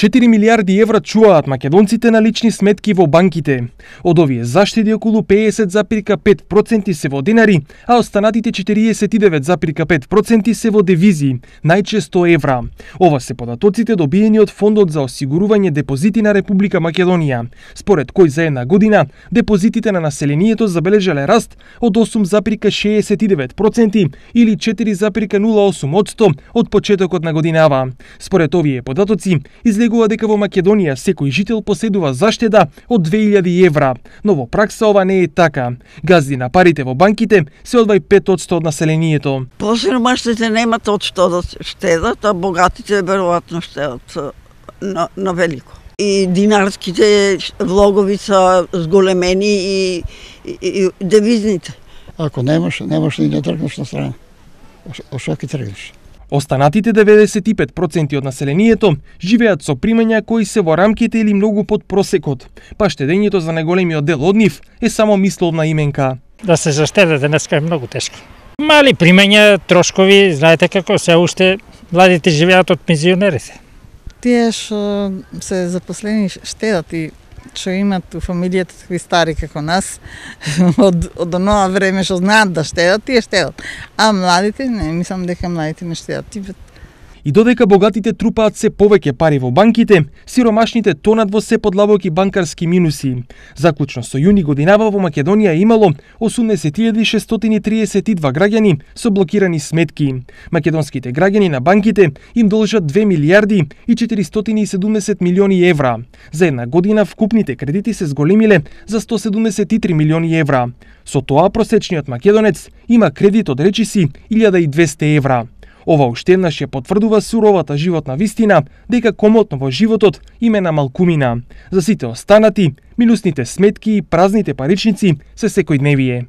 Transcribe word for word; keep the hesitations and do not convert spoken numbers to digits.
четири милиарди евра чуваат македонците на лични сметки во банките. Од овие заштеди околу педесет зарез пет проценти се во денари, а останатите четириесет и девет зарез пет проценти се во девизи, најчесто евра. Ова се податоците добиени од Фондот за осигурување депозити на Република Македонија, според кој за една година депозитите на населението забележале раст од осум зарез шеесет и девет проценти или четири зарез нула осум одсто од почетокот на годинава. Според овие податоци, излегува дека во Македонија секој жител поседува заштеда од две илјади евра, но во пракса ова не е така. Газди на парите во банките се одвај пет одсто од населението. Посиромашните немат од што да штедат, а богатите веројатно штедат на, на велико. И динарските влогови се зголемени и, и, и девизните. Ако немаш, немаш и не тргнеш на страна. Ошо ќе тргнеш. Останатите деветдесет и пет проценти од населението живеат со примања кои се во рамките или многу под просекот, па штедењето за најголемиот дел од нив е само мисловна именка. Да се заштеде денеска е многу тешко. Мали примања, трошкови, знаете како се уште младите живеат од пензионерите. Тие што се запослени штедат и што имат у фамилијата такви стари како нас, од, од онова време што знаат да штедат, тие штедат. А младите, не, мислам дека младите не штедат. И додека богатите трупаат се повеќе пари во банките, сиромашните тонат во се подлабоки банкарски минуси. Заклучно со јуни годинава во Македонија имало осумдесет илјади шестстотини триесет и два граѓани со блокирани сметки. Македонските граѓани на банките им должат две милијарди и четиристотини и седумдесет милиони евра. За една година вкупните кредити се зголемиле за сто седумдесет и три милиони евра. Со тоа просечниот македонец има кредит од речиси илјада и двесте евра. Ова уште еднаш ја потврдува суровата животна вистина дека комотно во животот име на малкумина. За сите останати, минусните сметки и празните паричници се секојдневие.